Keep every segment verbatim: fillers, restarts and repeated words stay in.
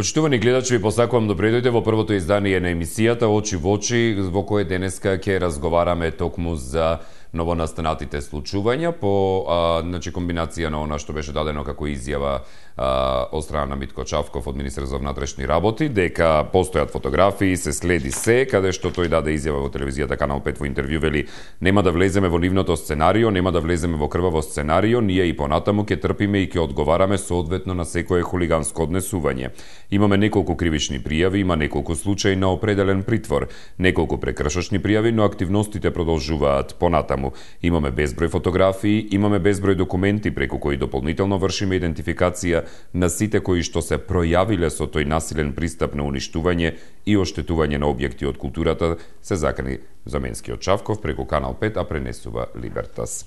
Почитувани гледачи, ви посакувам добре дојде во првото издание на емисијата Очи во очи, во кое денеска ќе разговараме токму за новонастанатите случувања по а, значи комбинација на она што беше дадено како изјава а, од страна на Митко Чавков од Министерството за внатрешни работи, дека постојат фотографии, се следи се, каде што тој даде изјава во телевизијата Канал пет во интервју, вели нема да влеземе во нивното сценарио, нема да влеземе во крваво сценарио, ние и понатаму ќе трпиме и ќе одговараме соодветно на секое хулиганско однесување. Имаме неколку кривични пријави, има неколку случаи на определен притвор, неколку прекршочни пријави, но активностите продолжуваат понатаму. Имаме безброј фотографии, имаме безброј документи преку кои дополнително вршиме идентификација на сите кои што се пројавиле со тој насилен пристап на уништување и оштетување на објекти од културата, се закани Заменскиот Чавков преку Канал пет, а пренесува Либертас.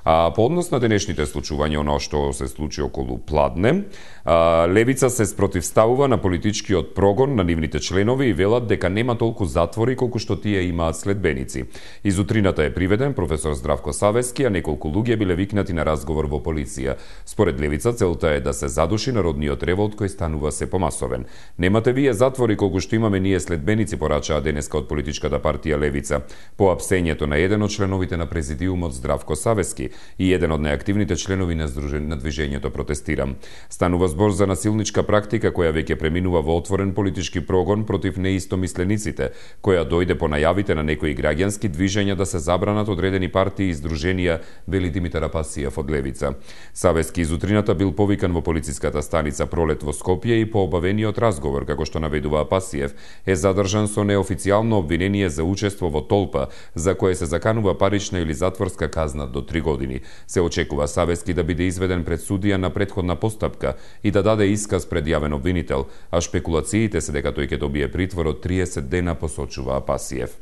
А, по однос на денешните случувања, оно што се случи околу Пладне, а, Левица се спротивставува на политичкиот прогон на нивните членови и велат дека нема толку затвори колку што тие имаат следбеници. Изутрината е приведен професор Здравко Савески, а неколку луѓе биле викнати на разговор во полиција. Според Левица, целта е да се задуши народниот револт кој станува се помасовен. Немате вие затвори колку што имаме ние следбеници, порачаа денеска од политичката партија Левица. По апсењето на еден од членовите на президиумот Здравко Савески и еден од неактивните членови на, здружен, на движењето Протестирам. Станува збор за насилничка практика која веќе преминува во отворен политички прогон против неистомислениците, која дојде по најавите на некои граѓански движења да се забранат одредени партии и здруженија, вели Димитар Апасиев од Левица. Савески изутрината бил повикан во полициската станица Пролет во Скопје и по обавениот разговор, како што наведува Апасиев, е задржан со неофицијално обвинение за учество во толпа, за кое се заканува парична или затворска казна до три години. Се очекува Савески да биде изведен пред судија на претходна постапка и да даде исказ пред јавен обвинител, а шпекулациите се дека тој ќе добие притвор од триесет дена, посочува Апасиев.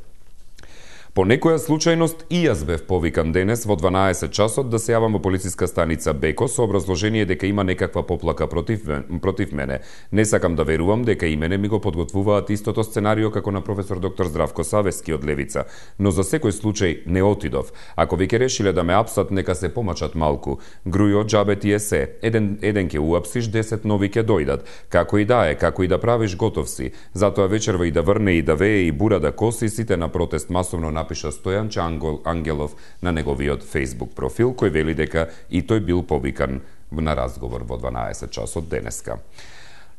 По некоја случајност и јас бев повикан денес во дванаесет часот да се јавам во полициска станица Беко со образложение дека има некаква поплака против, против мене. Не сакам да верувам дека и мене ми го подготвуваат истото сценарио како на професор доктор Здравко Савески од Левица, но за секој случај не отидов. Ако веќе решиле да ме апсат, нека се помачат малку. Грујо џабе ти е се. Еден, еден ке уапсиш, десет нови ке дојдат. Како и да е, како и да правиш, готов си. Затоа вечерва и да врне и да вее и бура да коси, сите на протест масовно на напиша Стојанче Ангелов на неговиот Facebook профил, кој вели дека и тој бил повикан на разговор во дванаесет часот денеска.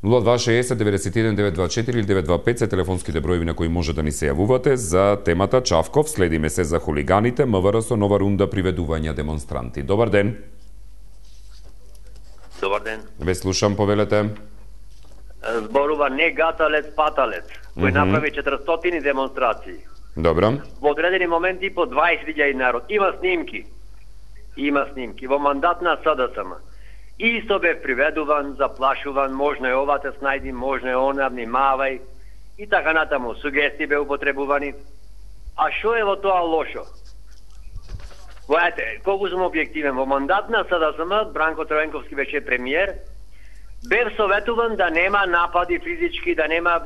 нула два шеесет деветдесет и еден девет два четири или девет два пет се телефонските броеви на кои може да ни се јавувате за темата Чавков. Следиме се за хулиганите, МВР со нова рунда приведувања демонстранти. Добар ден. Добар ден. Ве слушам, повелете. Зборува не гаталец, паталец, кој mm -hmm. направи четиристотини демонстрации. Добро. Во одредени моменти по дваесет илјади народ. Има снимки. Има снимки. Во мандат на СДСМ. Исто бе приведуван, заплашуван, можно е ова те снајди, можно е она, внимавај. И така натаму. Сугести бе употребувани. А шо е во тоа лошо? Војате, колку сум објективен, во мандат на СДСМ, Бранко Троенковски беше премиер, бев советуван да нема напади физички, да нема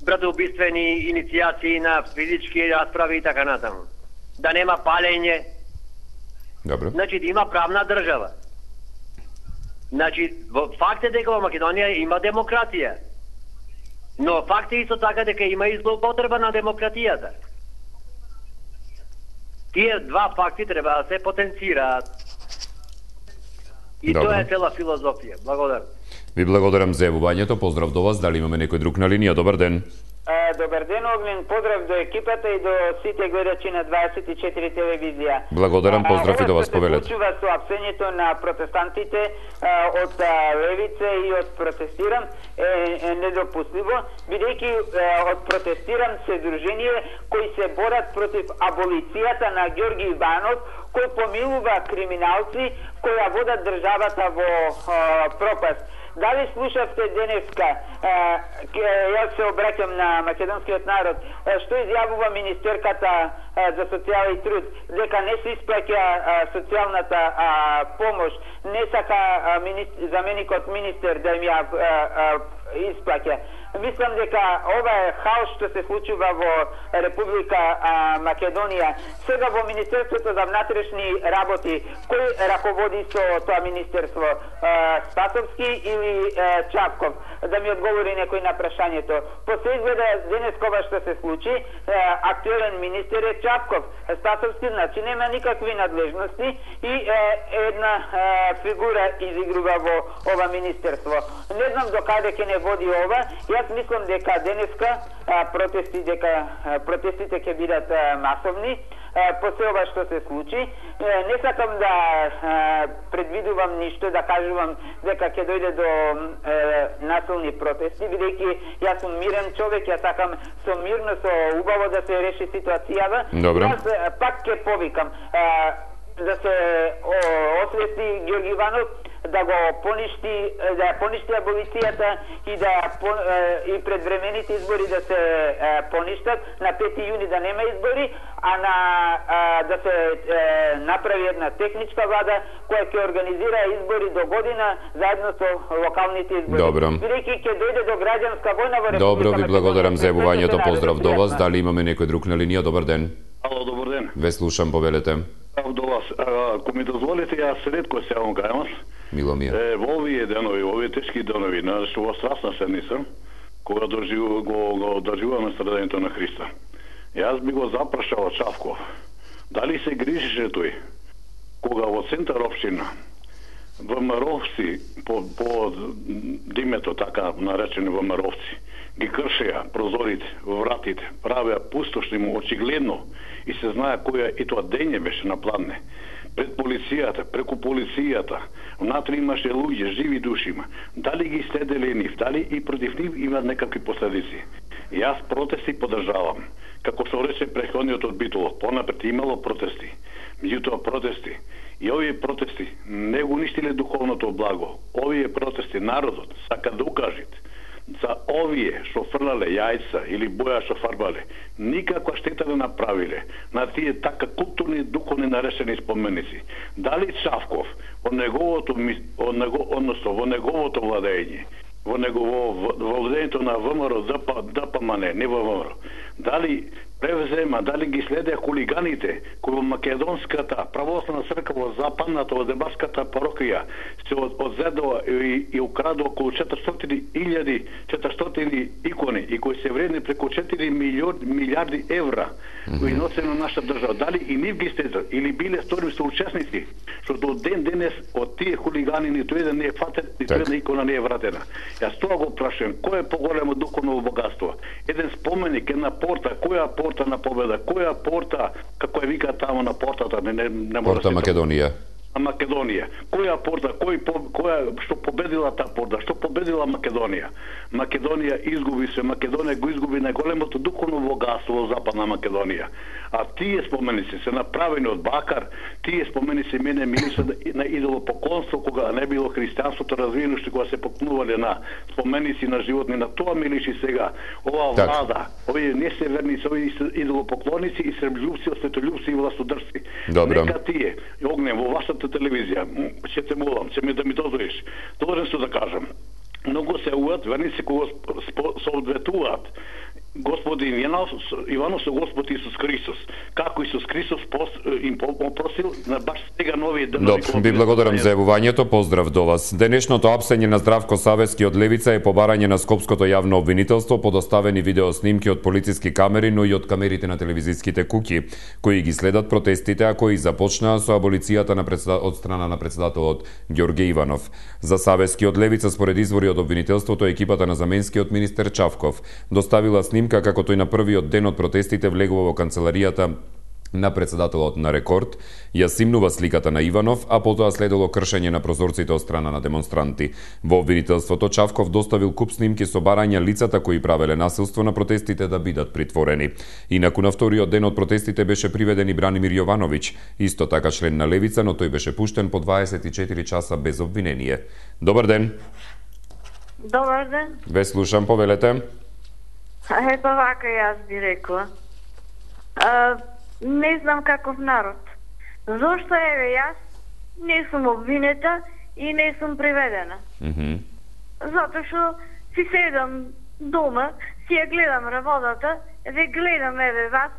братоубиствени иницијации на физички расправи и така натаму. Да нема палење. Добро. Значи, да има правна држава. Значи, факт е дека во Македонија има демократија. Но факт е исто така дека има и злоупотреба на демократијата. Тие два факти треба да се потенцираат. И Добро. тоа е цела филозофија. Благодарам. Ви благодарам за јавувањето. Поздрав до вас. Дали имаме некој друг на линија? Добар ден. Е, добар ден, Огнен. Поздрав до екипата и до сите гледачи на дваесет и четири телевизија. Благодарам, поздрав и до вас, повелете. Ова се случува со апсењето на протестантите а, од а, Левица и од Протестирам е, е недопустливо, бидејќи од Протестирам се дружение кои се борат против аболицијата на Ѓорги Иванов, кој помилува криминалци која водат државата во а, пропаст. Дали слушавте денеска, јас се обраќам на македонскиот народ, што изјавува министерката за социјала и труд, дека не се испраќа социјалната помош, не сака заменикот министер да им ја испраќа. мислам дека ова е хаос што се случува во Република а, Македонија. Сега во Министерството за внатрешни работи, кој раководи со тоа министерство? А, Спасовски или а, Чавков? Да ми одговори некој на прашањето. После изгледа денес кога што се случи, а, актуелен министер е Чавков. Спасовски значи нема никакви надлежности и а, една а, фигура изигрува во ова министерство. Не знам до каде ќе не води ова. Јас мислам дека денеска а, протести дека а, протестите ќе бидат а, масовни. После ова што се случи, не сакам да предвидувам ништо, да кажувам дека ќе дојде до насилни протести, бидејќи јас сум мирен човек, јас сакам со мирно, со убаво да се реши ситуацијава. Јас пак ќе повикам да се освести Ѓорги Иванов, да го поништи, да поништи аболицијата и да и предвремените избори да се поништат, на пети јуни да нема избори, а на да се направи една техничка влада која ќе организира избори до година заедно со локалните избори. Добро. Бидејќи ќе дојде до граѓанска војна во Република. Добро, ви благодарам за јавувањето. Поздрав до вас. Дали имаме некој друг на линија? Добар ден. Ало, добар ден. Ве слушам, повелете. До вас. Ако ми дозволите, јас ретко се јавам кај вас. Мило ми е. Е, во овие денови, во овие тешки денови, на што страсна седница, кога доживу, го, го доживуваме страдањето на Христа. Јас би го запрашал Чавков, дали се грижише тој, кога во центар општина, ВМРО-вци, по, по димето, така наречени ВМРО-вци, ги кршеа прозорите, вратите, правеа пустошни му очигледно и се знае која и тоа дење беше на пладне. Пред полицијата, преку полицијата, внатре имаше луѓе, живи души има. Дали ги следеле нив, дали и против нив имат некакви последици. Јас протести поддржавам. Како што рече претходниот одбител, понапред имало протести. Меѓутоа протести и овие протести не го уништиле духовното благо. Овие протести народот сака да укажат за овие што фрлале јајца или боја што фарбале, никаква штета не направиле на тие така културни духовни нарешени споменици. Дали Чавков во неговото од него, односно во неговото владење, во негово владењето на ВМРО ДПМН, не во ВМРО, дали превзема, дали ги следеа хулиганите кои во Македонската православна црква во западната, во Демаската парокија се одзедува и, и украдува околу четиристотини илјади четиристотини икони и кои се вредни преку четири милиарди евра кои носе на наша држава. Дали и нив ги следат или биле сторни соучесници, што до ден денес од тие хулигани ниту еден не е фатен, ниту една икона не е вратена. Јас тоа го прашувам, кој е поголемо духовно богатство? Еден споменик, една порта, која порта на победа, која порта, како е вика тамо на портата, не не, не порта Македонија. На Македонија. Која порта, кој која што победила таа порта, што победила Македонија? Македонија изгуби се, Македонија го изгуби најголемото духовно богатство во Западна Македонија. А тие споменици се направени од бакар, тие споменици мене милише на идолопоклонство кога не било христијанството развиено, што кога се покнувале на споменици на животни, на тоа милиши сега ова влада, овие несеверници, овие идолопоклоници и срблјубци, осветољубци и властодржци. Нека тие, огнем во вашата телевизија, ќе те молам, ќе ми да ми дозволиш, должен сум да кажам, многу се уат, верници кога соодветуваат Господин Иванов со Господ Исус Христос. Како Исус Христос им попросил на баш сега нови денови. Добро, ви благодарам за јавувањето, поздрав до вас. Денешното апсење на Здравко Савески од Левица е побарање на Скопското јавно обвинителство по доставени видеоснимки од полициски камери, но и од камерите на телевизиските куќи, кои ги следат протестите, а кои започнаа со аболицијата на председател... од страна на председателот Ѓорге Иванов. За Савески од Левица, според извори од обвинителството, екипата на заменскиот министер Чавков доставила снимка како тој на првиот ден од протестите влегува во канцеларијата на председателот на Рекорд, ја симнува сликата на Иванов, а потоа следело кршење на прозорците од страна на демонстранти. Во обвинителството Чавков доставил куп снимки со барања лицата кои правеле насилство на протестите да бидат притворени. Инаку на вториот ден од протестите беше приведен и Бранимир Јовановиќ, исто така член на Левица, но тој беше пуштен по дваесет и четири часа без обвинение. Добар ден. Добар ден. Ве слушам, повелете. Ето вака јас би рекла. А, не знам каков народ. Зошто еве јас не сум обвинета и не сум приведена? Mm-hmm. Затоа што си седам дома, си ја гледам работата, ве гледам еве вас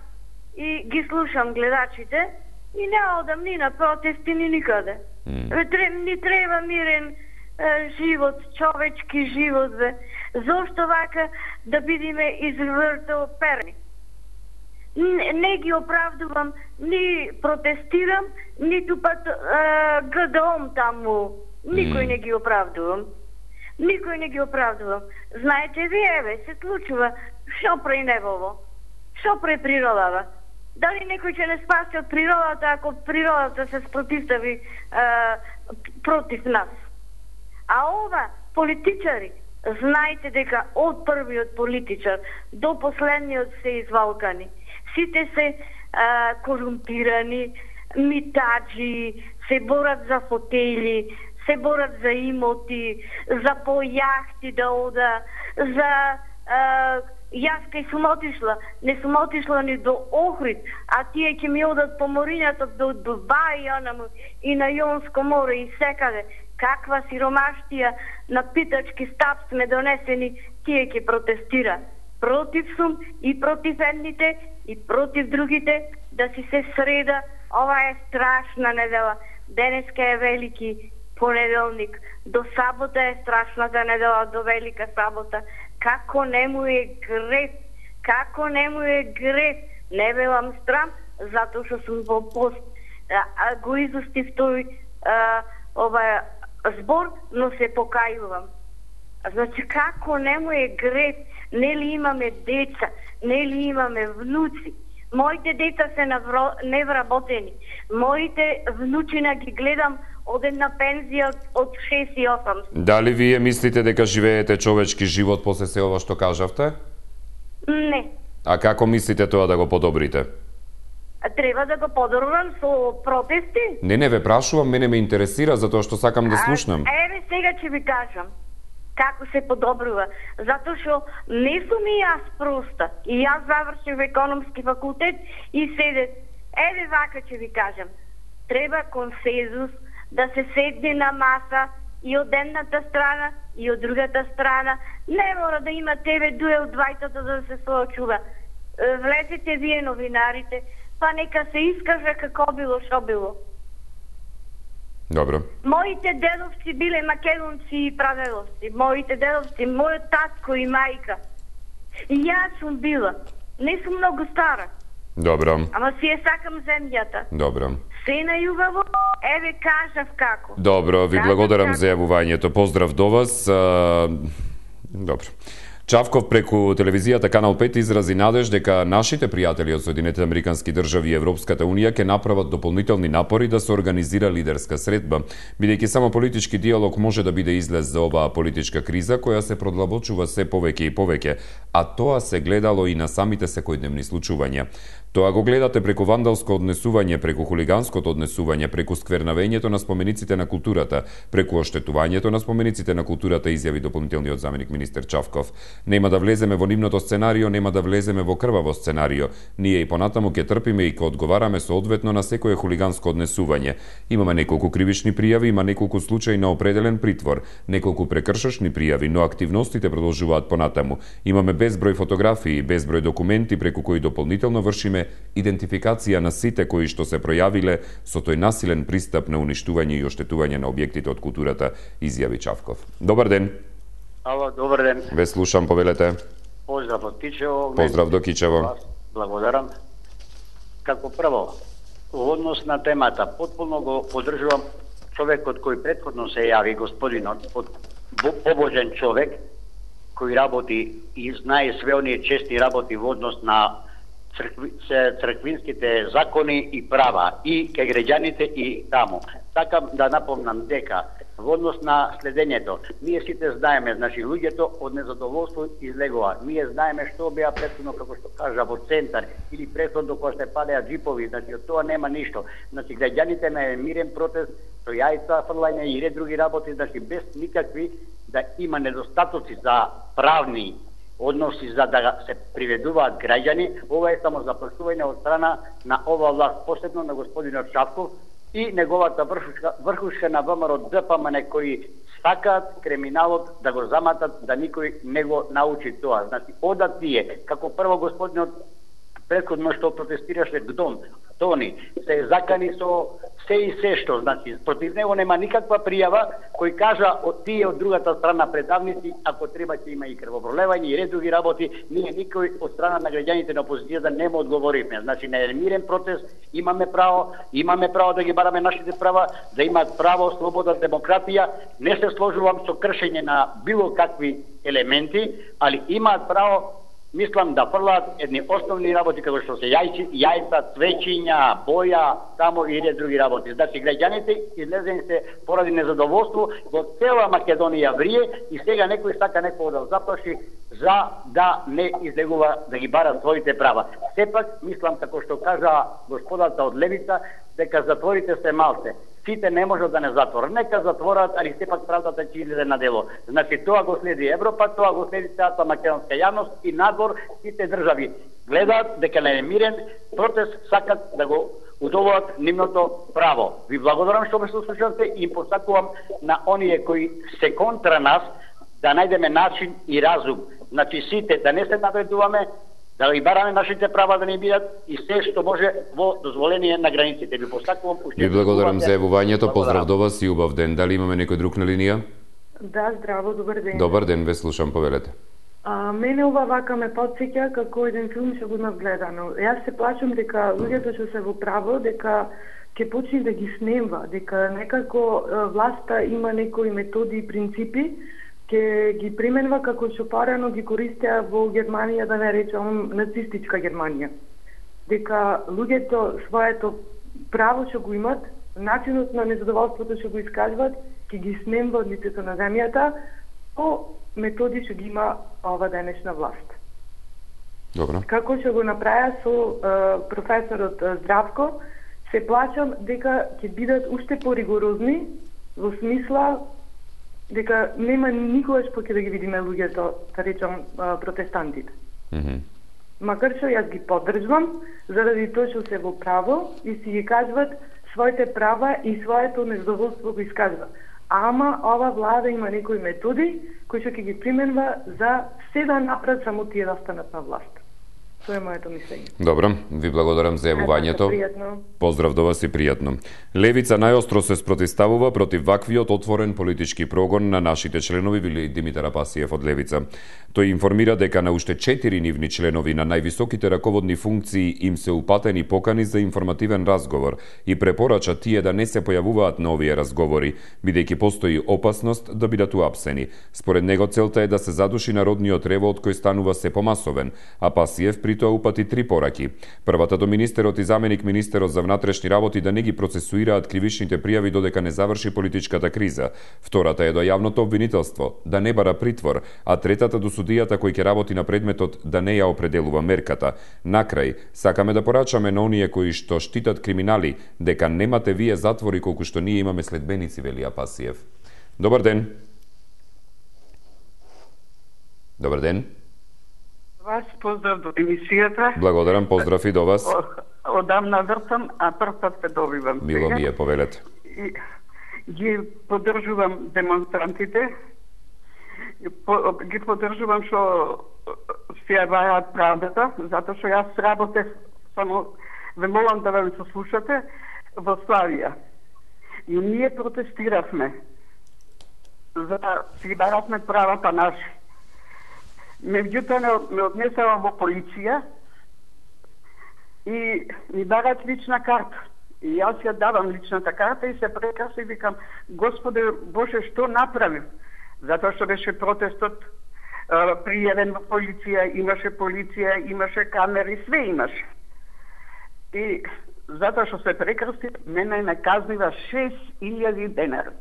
и ги слушам гледачите и не одам ни на протести ни никаде. Mm. Ве треб, ни треба мирен е, живот, човечки живот, ве. Зошто вака да бидиме извртоперни? Не, не ги оправдувам, ни протестирам, ниту пат е, гледам таму. Никој не ги оправдувам. Никој не ги оправдувам. Знаете ви, еве, се случува, шо прави небово? Шо прави природава? Дали некој ќе не спаси од природата ако природата се спротивстави е, против нас? А ова, политичари, знаете дека од првиот политичар до последниот се извалкани. Сите се е, корумпирани, митаджи, се борат за фотели, се борат за имоти, за по јахти да ода, за... Е, јас кај сум отишла, не сум отишла ни до Охрид, а тие ќе ми одат по морињата до Дубај и на Јонско море и секаде. Каква сиромаштија на питачки стап сме донесени, тие ќе протестира. Против сум и против едните и против другите да си се среда. Ова е страшна недела. Денеска е велики понеделник. До сабота е страшната недела, до велика сабота. Како не му е грев, како не му е грев. Не велам страм, затоа што сум во пост. А, а, го изустив тој а, ова збор, но се покајувам. Значи, како не му е грев, нели имаме деца, нели имаме внуци. Моите деца се навро... невработени. Моите внучина ги гледам од една пензија од шест и осам. Дали вие мислите дека живеете човечки живот после се ова што кажавте? Не. А како мислите тоа да го подобрите? Треба да го подобрам со протести. Не, не ве прашувам, мене ме интересира затоа што сакам да слушнам. А, еве сега ќе ви кажам како се подобрува. Затоа што не сум и јас проста. И јас завршив економски факултет и седе. Еве вака ќе ви кажам. Треба консензус, да се седне на маса и од едната страна и од другата страна. Не мора да има тебе дуел двајтата да се соочува. Влезете вие новинарите, па нека се искаже како било, шо било. Добро. Моите дедовци биле македонци и прадедовци. Моите дедовци, мојот татко и мајка. И јас сум била. Не сум многу стара. Добро. Ама си е сакам земјата. Добро. Се најубаво, еве кажав како. Добро, ви благодарам за јавувањето. Поздрав до вас. А... Добро. Чавков преку телевизијата Канал пет изрази надеж дека нашите пријатели од Соединетите Американски држави и Европската Унија ќе направат дополнителни напори да се организира лидерска средба, бидејќи само политички диалог може да биде излез за оваа политичка криза која се продлабочува се повеќе и повеќе, а тоа се гледало и на самите секојдневни случувања. Тоа го гледате преку вандалско однесување, преку хулиганското однесување, преку сквернавењето на спомениците на културата, преку оштетувањето на спомениците на културата, изјави дополнителниот заменик министер Чавков. Нема да влеземе во нивното сценарио, нема да влеземе во крваво сценарио. Ние и понатаму ќе трпиме и ќе одговараме соодветно на секое хулиганско однесување. Имаме неколку кривични пријави, има неколку случаи на определен притвор, неколку прекршочни пријави, но активностите продолжуваат понатаму. Имаме безброј фотографии, безброј документи преку кои дополнително вршиме идентификација на сите кои што се пројавиле со тој насилен пристап на уништување и оштетување на објектите од културата, изјави Чавков. Добар ден. Ало, добар ден. Ве слушам, повелете. Поздрав од Кичево. Поздрав до Кичево. Благодарам. Како прво, во однос на темата, потполно го поддржувам човекот кој претходно се јави, господинот, од побожен човек, кој работи и знае све оние чести работи во однос на цркви, црквинските закони и права и кај граѓаните и таму. Сакам да напомнам дека во однос на следењето, ние сите знаеме, значи луѓето од незадоволство излегува. Ние знаеме што беа претходно, како што кажа, во центар или претходно кога се палеа джипови, значи од тоа нема ништо. Значи граѓаните на мирен протест, со јајца фрлање и ред други работи, значи без никакви да има недостатоци за правни односи за да се приведуваат граѓани. Ова е само заплашување од страна на ова власт, посебно на господинот Чавков, и неговата врхушка, врхушка на ВМРО Д П М Н кои сакаат криминалот да го заматат, да никој не го научи тоа. Значи, одат тие, како прво господинот претходно што протестираше Гдон, Тони, се закани со се и се што, значи, против него нема никаква пријава, кој кажа од тие од другата страна предавници, ако треба ќе има и крвопролевање и ред други работи, ние никој од страна на граѓаните на опозицијата не му одговоривме. Значи, на мирен протест имаме право, имаме право да ги бараме нашите права, да имаат право, слобода, демократија, не се сложувам со кршење на било какви елементи, али имаат право, мислам, да фрлаат едни основни работи како што се јајци, јајца, цвеќиња, боја, само и ред други работи. Значи, граѓаните излезени се поради незадоволство, во цела Македонија врие и сега некој сака некој да заплаши за да не излегува да ги бара своите права. Сепак, мислам, како што кажа господата од Левица, дека затворите се малце. Сите не можат да не затворат. Нека затворат, али сепак правдата ќе излезе на дело. Значи, тоа го следи Европа, тоа го следи целата македонска јавност и надвор сите држави гледаат дека на мирен протест сакат да го удоволат нивното право. Ви благодарам што ме слушате и им посакувам на оние кои се контра нас да најдеме начин и разум. Значи, сите да не се навредуваме, да ги бараме нашите права да не бидат и се што може во дозволение на границите. Ви посакувам. Ви благодарам за јавувањето. Поздрав до вас и убав ден. Дали имаме некој друг на линија? Да, здраво, добар ден. Добар ден, ве слушам, повелете. А, мене ова вака ме потсеќа како еден филм што го имав гледано. Јас се плачам дека луѓето што се во право, дека ќе почне да ги снемва, дека некако власта има некои методи и принципи, ќе ги применува како што порано ги користеа во Германија, да не речам нацистичка Германија. Дека луѓето своето право што го имат, начинот на незадоволството што го искажуваат, ќе ги снемва од лицето на земјата по методи што ги има ова денешна власт. Добро. Како што го направи со е, професорот Здравко, се плачам дека ќе бидат уште поригорозни во смисла дека нема никогаш поќе да ги видиме луѓето, да речам, протестантите. Mm -hmm. Макар што јас ги поддржувам, заради тоа што се во право и си ги кажуват своите права и своето незадоволство го искажува. Ама ова влада има некои методи кои што ќе ги применува за се да направат само тие да станат на власт. Тоа е моето мислење. Добро, ви благодарам за јавувањето. Поздрав до вас и пријатно. Левица најостро се спротивставува против ваквиот отворен политички прогон на нашите членови, вели Димитар Апасиев од Левица. Тој информира дека на уште четири нивни членови на највисоките раководни функции им се упатени покани за информативен разговор и препорача тие да не се појавуваат на овие разговори, бидејќи постои опасност да бидат уапсени. Според него целта е да се задуши народниот револт кој станува се помасовен. Апасиев при тоа упати три пораки. Првата до министерот и заменик министерот за внатрешни работи да не ги процесуираат кривичните пријави додека не заврши политичката криза. Втората е до јавното обвинителство, да не бара притвор, а третата до судијата кој ќе работи на предметот да не ја определува мерката. Накрај, сакаме да порачаме на оние кои што штитат криминали, дека немате вие затвори колку што ние имаме следбеници, вели Апасиев. Добар ден. Добар ден. Вас поздрав до емисијата. Благодарам, поздрав и до вас. Одамна вртам, а прв пат те добивам. Мило ми е, повелете. И, ги поддржувам демонстрантите, по, ги поддржувам што си ја бајаат правдата, затоа што јас работев, само ве молам да ве слушате, во Славија. И ние протестиравме за да си баравме правата наши. Меѓутоа ме однесава во полиција и ми барат лична карта. И јас ја давам личната карта и се прекраси и викам, Господе Боже, што направив? Затоа што беше протестот пријавен во полиција, имаше полиција, имаше камери, све имаше. И затоа што се прекраси, мене ме казнива шест илјади денари.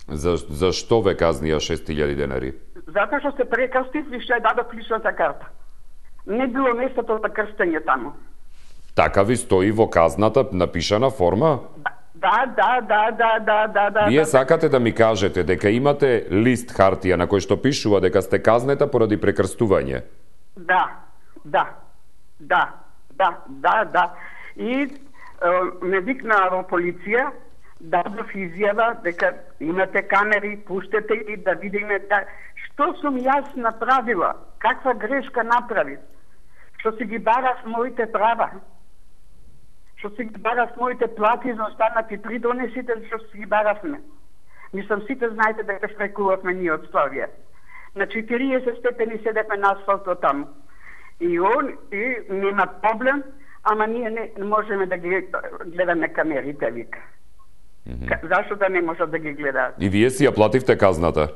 За, за што ве казнија шест илјади денари? Затоа што се прекрстив и што ја дадов личната карта. Не било местото за крстење таму. Така ви стои во казната напишана форма? Да, да, да, да, да, да, да. Вие да, сакате да ми кажете дека имате лист хартија на кој што пишува дека сте казнета поради прекрстување? Да, да, да, да, да, да. И ме викнаа во полиција, дадов изјава дека имате камери, пуштете и да видиме да... што сум јас направила, каква грешка направи, што си ги барав моите права, што си ги барав моите плати за останати придонесите, што си ги баравме. Мислам, сите знаете дека штрекувавме ние од Славија. На четириесет степени седевме на асфалтот таму. И он, и нема проблем, ама ние не можеме да ги гледаме камерите, вика. Mm -hmm. Зашто да не можат да ги гледаат? И вие си ја плативте казната?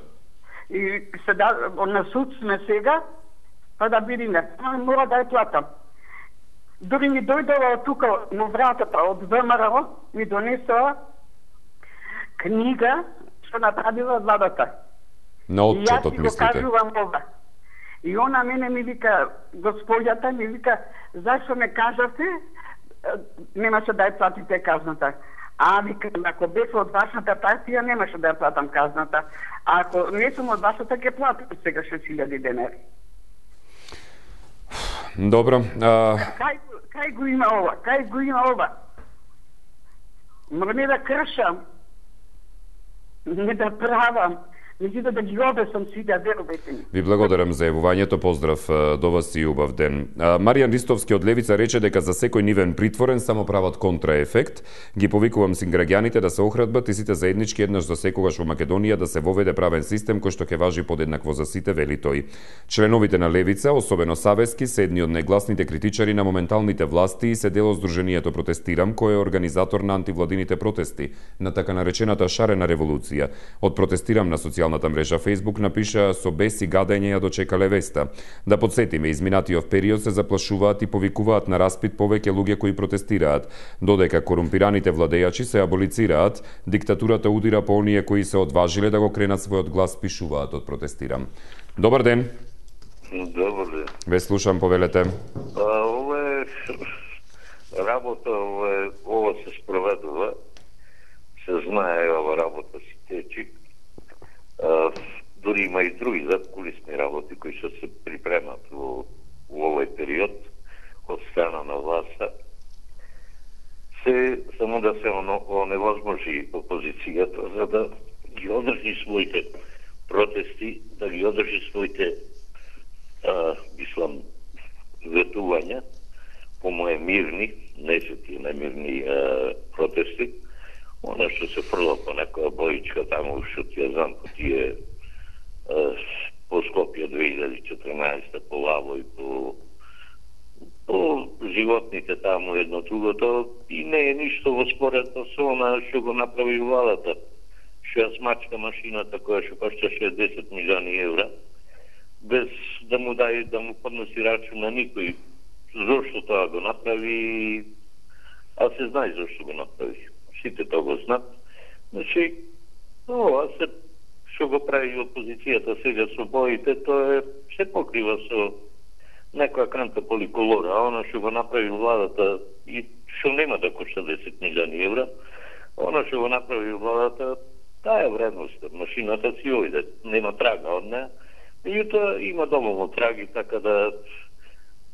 И сега, на суд сме сега, па да видиме. Мора да ја платам. Дори ми дојдела од тука, на вратата, од ВМРО, ми донесла книга што направила владата. На отчетот, мислите? И јас го кажувам ова. И она мене ми вика, господјата ми вика, зашто не кажавте, немаше да ја платите казната. А, вика, ако бев од вашата партија, немаше да ја платам казната. А ако не сум од вашата, ќе платам сега шест илјади денари. Добро. А... Кај, кај го има ова? Кај го има ова? Не да кршам, не да правам, меѓутоа да ги обесам сите, верувате ми. Ви благодарам за јавувањето, поздрав до вас и убав ден. Маријан Ристовски од Левица рече дека за секој нивен притворен само прават контраефект. Ги повикувам син граѓаните да се охрабрат и сите заеднички еднаш за секогаш во Македонија да се воведе правен систем кој што ќе важи подеднакво за сите, вели тој. Членовите на Левица, особено Савески, се едни од најгласните критичари на моменталните власти и се дел од Сдруженијето Протестирам, кој е организатор на антивладините протести на така наречената шарена револуција. Од Протестирам на социјалната мрежа Facebook напиша: со бес и гадење ја дочекале веста. Да подсетиме, изминатиот период се заплашуваат и повикуваат на распит повеќе луѓе кои протестираат. Додека корумпираните владејачи се аболицираат, диктатурата удира по оние кои се одважиле да го кренат својот глас, пишуваат од Протестирам. Добар ден. Добар ден. Ве слушам, повелете. А, ова е работа, ова, е, ова се спроведува. Се знае, ова работа си течи. Uh, дори има и други задкулисни работи кои што се припремат во, во овој период од страна на власта. Се само да се оневозможи опозицијата за да ги одржи своите протести, да ги одржи своите uh, мислам ветувања по моje мирни, не се тие најмирни uh, протести. Она што се фрла по некоја боичка таму, што ти ја знам, по тие по Скопје две илјади и четрнаесета, по Лаво и по, по животните таму едно другото, и не е ништо во споредно со она што го направи владата, што ја смачка машината која што кошта шеесет милиони евра, без да му дај, да му подноси рачун на никој. Зошто тоа го направи, а се знае зошто го направи. Сите тоа го знаат. Значи, ова се што го прави опозицијата сега со боите, тоа е се покрива со некоја канта поликолора, а она што го направи владата и што нема да кошта десет милиони евра, она што го направи владата, таа е вредност. Машината си ојде, нема трага од неа, меѓутоа има доволно траги, така да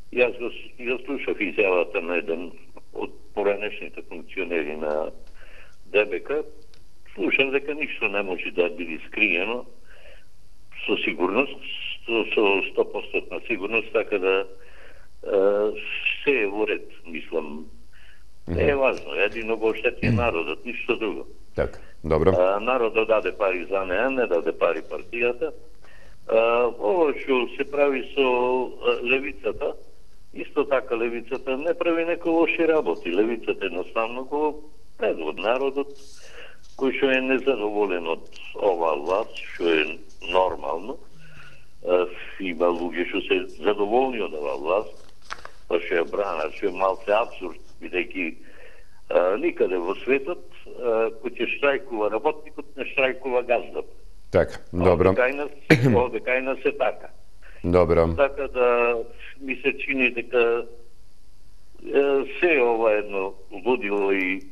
јас го, го слушав изјавата на еден од поранешните функционери на ДБК, слушам дека ништо не може да биде скриено со сигурност, со, со сто проценти сигурност, така да е, се е во ред, мислам. Не е важно, едино го оштети народот, ништо друго. Така, добро. А, народот даде пари за неа, не даде пари партијата. А, ово што се прави со левицата, исто така левицата не прави некои лоши работи. Левицата едноставно го предвод народот, кој што е незадоволен од оваа власт, што е нормално. Има луѓе што се задоволни од оваа власт, па што ја бранат, што е малце абсурд, бидејќи никаде во светот кој ќе штрајкува работникот, не штрајкува газдот. Така, добро. Овде кај нас е така. Добро. Така да ми се чини дека се ова едно лудило и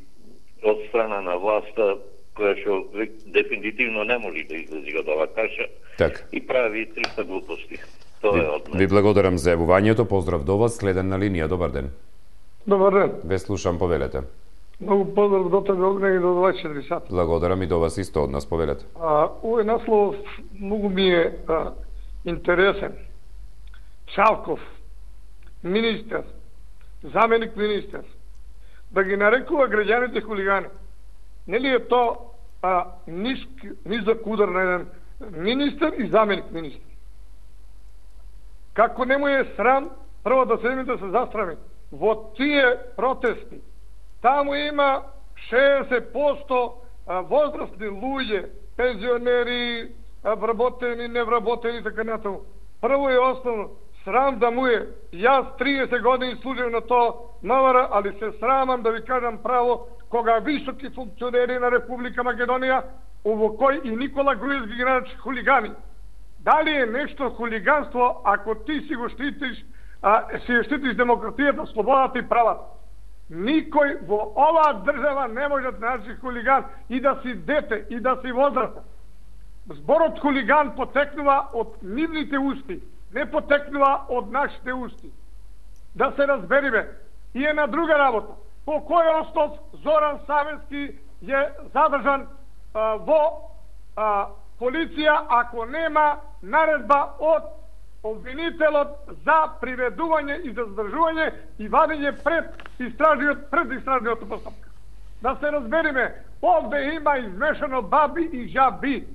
од страна на власта, која што дефинитивно не може да излези од оваа каша, так. И прави триста глупости. Тоа е од мене. Ви благодарам за јавувањето, поздрав до вас, следен на линија, добар ден. Добар ден. Ве слушам, повелете. Многу поздрав до тебе, Огне, и до дваесет и четири сата. Благодарам и до вас исто од нас, повелете. А, овој наслов многу ми е а, интересен. Чавков, министер, заменик министер, да ги нарекува граѓаните хулигани. Нели е то а, ниск, низак удар на еден министер и заменик министер? Како не му е срам, прво да седми да се застрами во тие протести. Таму има шеесет проценти возрастни луѓе, пензионери, вработени, невработени, така натаму. Прво и основно, срам да му е. Јас триесет години служив на тоа МВР, али се срамам да ви кажам право, кога високи функционери на Република Македонија, ово кој и Никола Груевски ги нарече хулигани. Дали е нешто хулиганство ако ти си го штитиш, а, си штитиш демократијата, слободата и правата? Никој во оваа држава не може да нарече хулиган и да си дете, и да си возрастен. Зборот хулиган потекнува од нивните усти, не потекнува од нашите усти. Да се разбериме. И е на друга работа. По кој основ Зоран Савенски е задржан а, во а, полиција ако нема наредба од обвинителот за приведување и за задржување и вадење пред истражниот пред истражниот постапка. Да се разбериме, овде има измешано баби и жаби.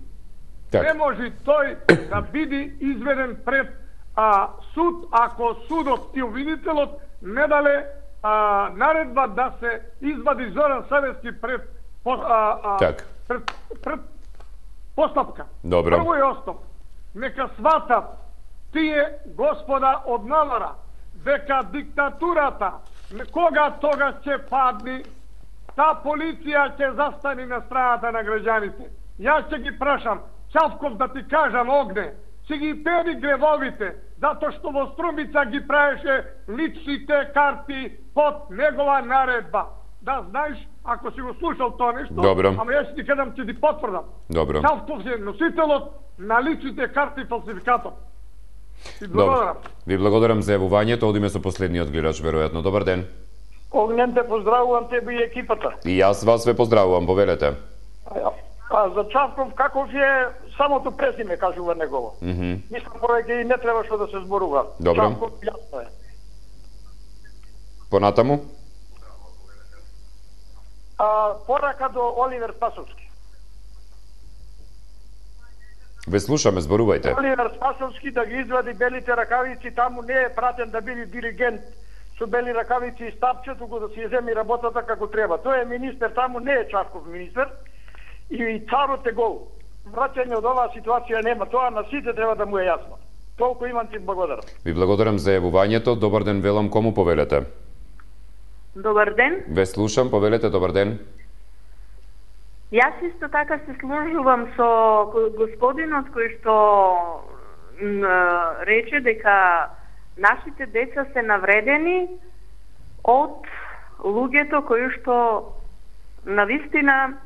Так. Не може тој да биде изведен пред а, суд ако судот и обвинителот не дале а, наредба да се извади Зоран Савенски пред а, а, так. пред, пред постапка. Добро. Прво и основ. Нека сватат тие господа од МВР дека диктатурата кога тога ќе падни, та полиција ќе застани на страната на граѓаните. Јас ќе ги прашам, Чавков да ти кажам, Огне, ќе ги пери гревовите, затоа што во Струмица ги правеше личните карти под негова наредба. Да знаеш, ако си го слушал тоа нешто, Добро. ама јас ти кажам, ќе ти потврдам. Добро. Чавков е носителот на личните карти фалсификатор. Ви благодарам. Ви благодарам за јавувањето. Одиме со последниот гледач, веројатно. Добар ден. Огнен, те поздравувам тебе и екипата. И јас вас ве поздравувам, повелете. А, а за Чавков, каков е самото презиме, кажува негово. Mm -hmm. Мислам, поради и не треба што да се зборува. Добро. Чавков, јасно е. Понатаму? А, порака до Оливер Спасовски. Ве слушаме, зборувајте. Оливер Спасовски да ги извади белите ракавици, таму не е пратен да биде диригент со бели ракавици и стапче, туку да си ја земи работата како треба. Тој е министер, таму не е Чавков министер. И царот е гол. Враќање од оваа ситуација нема. Тоа на сите треба да му е јасно. Толку имам, ти благодарам. Ви благодарам за јавувањето. Добар ден, велам, кому повелете? Добар ден. Ве слушам, повелете, добар ден. Јас исто така се служувам со господинот кој што рече дека нашите деца се навредени од луѓето кои што навистина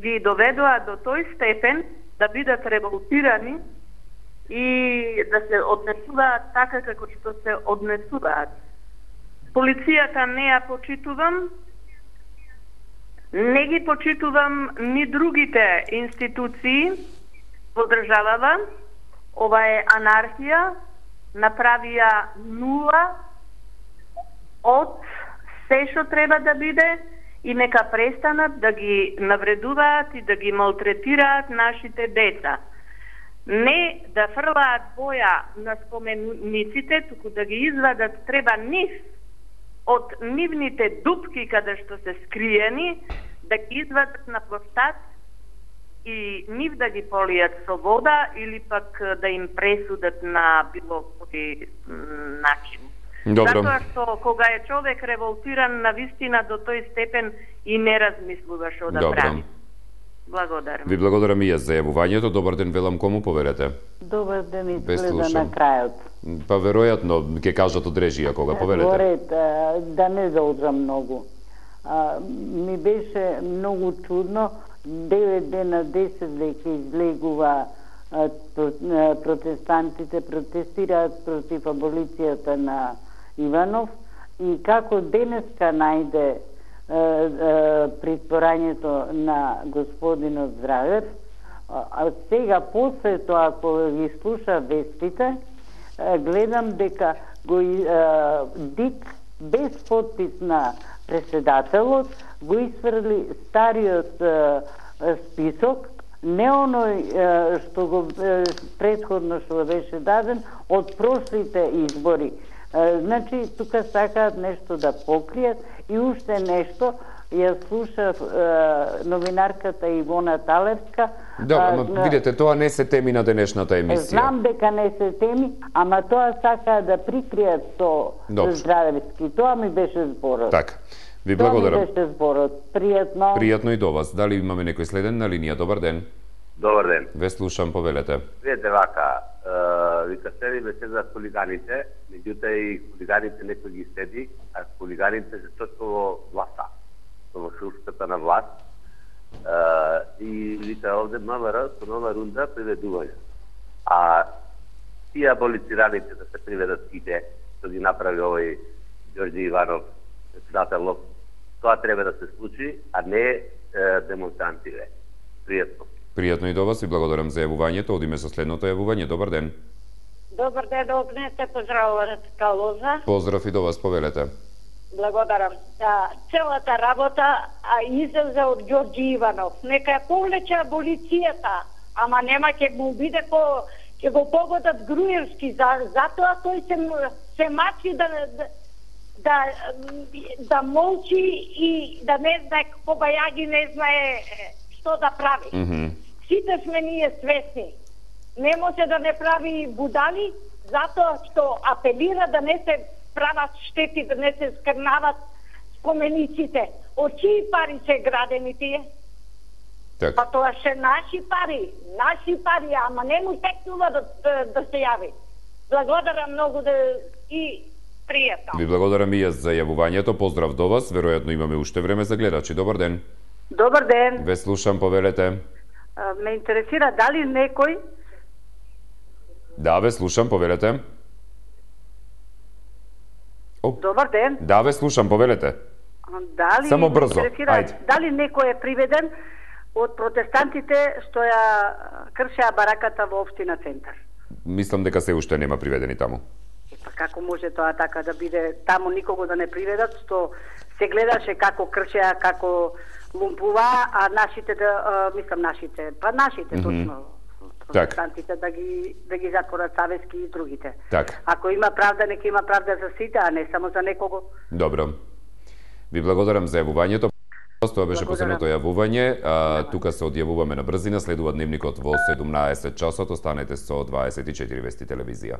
ги доведоа до тој степен да бидат револтирани и да се однесуваат така како што се однесуваат. Полицијата не ја почитувам, не ги почитувам ни другите институции во државава. Ова е анархија, направија нула од се што треба да биде и нека престанат да ги навредуваат и да ги малтретираат нашите деца. Не да фрлаат боја на спомениците, туку да ги извадат, треба нив од нивните дупки каде што се скриени, да ги извадат на площад и нив да ги полијат со вода или пак да им пресудат на било кој начин. Добро. Затоа што кога е човек револтиран на вистина до тој степен и не размислува што да Добро. прави. Благодарам. Ви благодарам и јас за јавувањето. Добар ден, велам, кому повелете? Добар ден, изгледа слушам. на крајот. Па веројатно ќе кажат од режија кога повелете. Горет, да не заодрам многу. А, ми беше многу чудно, девет дена, десет веќе излегува а, протестантите, протестираат против аболицијата на Иванов и како денеска најде притворањето на господинот Здравев. А сега после тоа кога ги слуша вестите, гледам дека го ДИК без подпис на председателот го исфрли стариот список, не оној што го претходно што беше даден од прошлите избори. Значи, тука сакаат нешто да покријат и уште нешто. Ја слушав новинарката Ивона Талевска. Да, ама видете, тоа не се теми на денешната емисија. Знам дека не се теми, ама тоа сакаат да прикријат со Здравевски. Тоа ми беше зборот. Така. Ви благодарам. Тоа ми беше зборот. Пријатно. Пријатно и до вас. Дали имаме некој следен на линија? Добар ден. Добар ден. Ве слушам, повелете. Видете вака, вика седи ме седа хулиганите, меѓутоа и хулиганите некој ги седи, а хулиганите се точно во власта, во шурската на власт. И вика овде МВР со нова рунда приведување. А тие аболицираните да се приведат сите, што ги направи овој Ѓорѓе Иванов, председателов, тоа треба да се случи, а не демонстрантиве. Пријатно. Пријатно и до вас и благодарам за јавувањето. Одиме со следното јавување. Добар ден. Добар ден, Огнете, поздравувам Калоза. Поздрав и до вас, повелете. Благодарам. Да, целата работа а излезе од Ѓорѓе Иванов. Нека ја повлече аболицијата, ама нема ќе му биде по ќе го погодат Груевски, за затоа тој се се мачи да да да молчи и да не знае Кобајаги не знае што да прави. Mm -hmm. Сите сме ние свесни. Не може да не прави будали, затоа што апелира да не се прават штети, да не се скрнават спомениците. Од чии пари се градени тие? Так. Па тоа се наши пари, наши пари, ама не му текнува да, да, да се јави. Благодарам многу да и пријатно. Ви благодарам и јас за јавувањето. Поздрав до вас. Веројатно имаме уште време за гледачи. Добар ден. Добар ден. Ве слушам, повелете. А, ме интересира дали некој... Да, ве слушам, повелете. О. Добар ден. Да, ве слушам, повелете. Дали Само брзо. Ајде. Дали некој е приведен од протестантите што ја кршеа бараката во општина Центар? Мислам дека се уште нема приведени таму. Па како може тоа така да биде? Таму никого да не приведат, што се гледаше како кршеа, како лумпува, а нашите да, а, мислам нашите, па нашите mm -hmm. точно, протестантите да ги да ги затворат Савески и другите. Так. Ако има правда, нека има правда за сите, а не само за некого. Добро. Ви благодарам за јавувањето. Тоа беше последното јавување. А, тука се одјавуваме на брзина. Следува дневникот во седумнаесет часот. Останете со дваесет и четири Вести телевизија.